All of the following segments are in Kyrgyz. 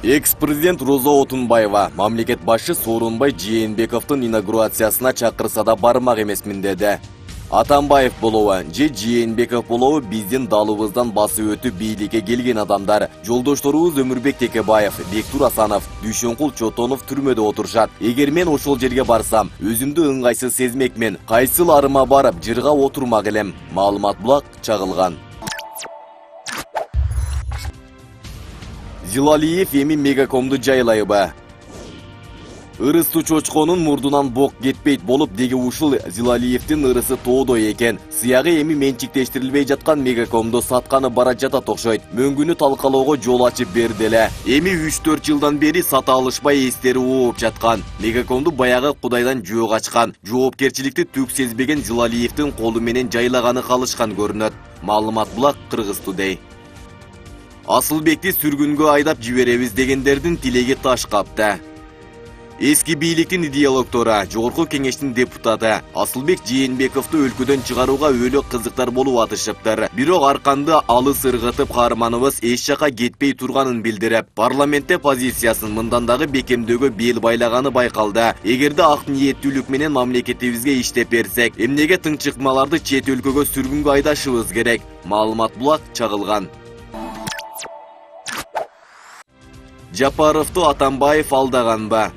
Экс-президент Роза Отунбаева мамлекет башы Сооронбай Жээнбековдун инаугурациясына чакырса да бармак эмесмин деди. Атамбаев болобу же Жээнбеков болобу биздин далыбыздан басып өтүп бийликке келген адамдар. Жолдошторубуз Өмүрбек Текебаев, Бектур Асанов, Дүйшөнкул Чотонов түрмөдө отурушат. Эгер мен ошол жерге барсам, өзүмдү ыңгайсыз сезмекмин. Кайсыл арыма барып жырга отурмак элем. Маалымат булак чагылган. Зилалиев эми Мегакомду жайлайбы? Ырыстуу чочконун мурдунан бок кетпейт болуп деги ушул Зилалиевдин ырысы тоодой экен. Сыягы эми менчиктештирилбей жаткан Мегакомду сатканы бара жатат окшойт. Мөңгүнү талкалоого жол ачып берди эле. Эми 3-4 жылдан бери сата алышпай эстери ооп жаткан. Мегакомду баягы Кудайдан жөө качкан, жоопкерчиликти түк сезбеген Зилалиевдин колу менен жайлаганы калышкан көрүнөт. Маалымат булак Кыргыз Today. Асылбекти сүргүнгө айдап жиберебиз дегендердин тилеги таш капты. Эски бийликтин идеологтору, Жогорку Кеңештин депутаты Асылбек Жээнбековду өлкөдөн чыгарууга өлө кызыктар болуп атышыптыр. Бирок арканды алыс ыргытып каарманыбыз эч жака кетпей турганын билдирип, парламентте позициясын мындан дагы бекемдөөгө бел байлаганы байкалды. Эгерде ак ниеттүүлүк менен мамлекетибизге иштеп берсек, эмнеге тыңчыкмаларды чет өлкөгө сүргүнгө айдашыбыз керек? Маалымат булак чагылган. Жапаровду Атамбаев алдаганбы?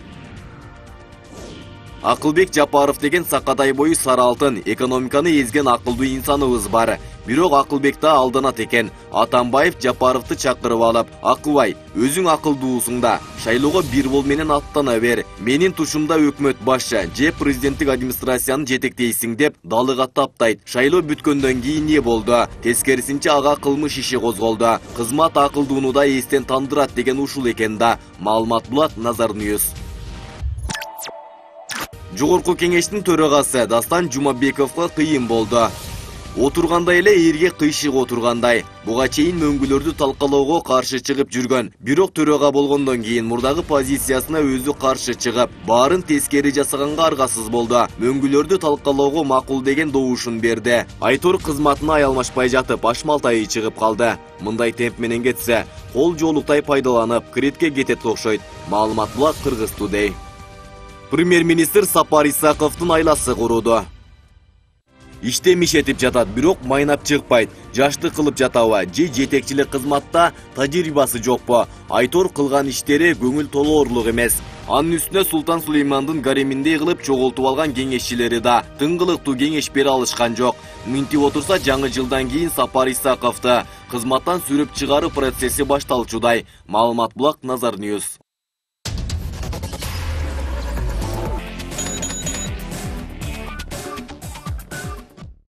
Акылбек Жапаров деген сакадай бою сары алтын, экономиканы эзген акылдуу инсаныбыз бар. Бирок Акылбек да алданат экен. Атамбаев Жапаровду чакырып алып, "Акылбай, өзүң акылдуусуң да, шайлоого бир бол менен аттана бер. Менин тушумда өкмөт башы же президенттик администрацияны жетектейсиң" деп далыга таптайт. Шайлоо бүткөндөн кийин эмне болду? Тескерисинче ага кылмыш иши козголду. Кызмат акылдууну да эстен тандырат деген ушул экен да. Маалымат булак Nazar News. Жогорку Кеңештин төрагасы Дастан Жумабековго кыйын болду. Отургандай эле эрге кыйшык отургандай. Буга чейин мөңгүлөрдү талкалоого каршы чыгып жүргөн. Бирок төрага болгондон кийин мурдагы позициясына өзү каршы чыгып, баарын тескери жасаганга аргасыз болду. Мөңгүлөрдү талкалоого макул деген добушун берди. Айтор кызматына аялмашпай жатып, ашмалтайы чыгып калды. Мындай темп менен кетсе, кол жоолуктай пайдаланып, кредитке кетет окшойт. Маалымат булак Кыргыз Today. Премьер-министр Сапар Исаковдун айласы куруду. Иштем ишетип жатат, бирок майнап чыкпайт. Жашты кылып жатабы же жетекчилик кызматта тажрыйбасы жокпу? Айтор кылган иштери көңүл толоорлук эмес. Анын үстүнө Султан Сулеймандын гареминдей кылып чогултуп алган кеңешчилери да тыңгылыктуу кеңеш бере алышкан жок. Минтип отурса, жаңы жылдан кийин Сапар Исаковду кызматтан сүрүп чыгаруу процесси башталчудай. Маалымат булак Nazar News.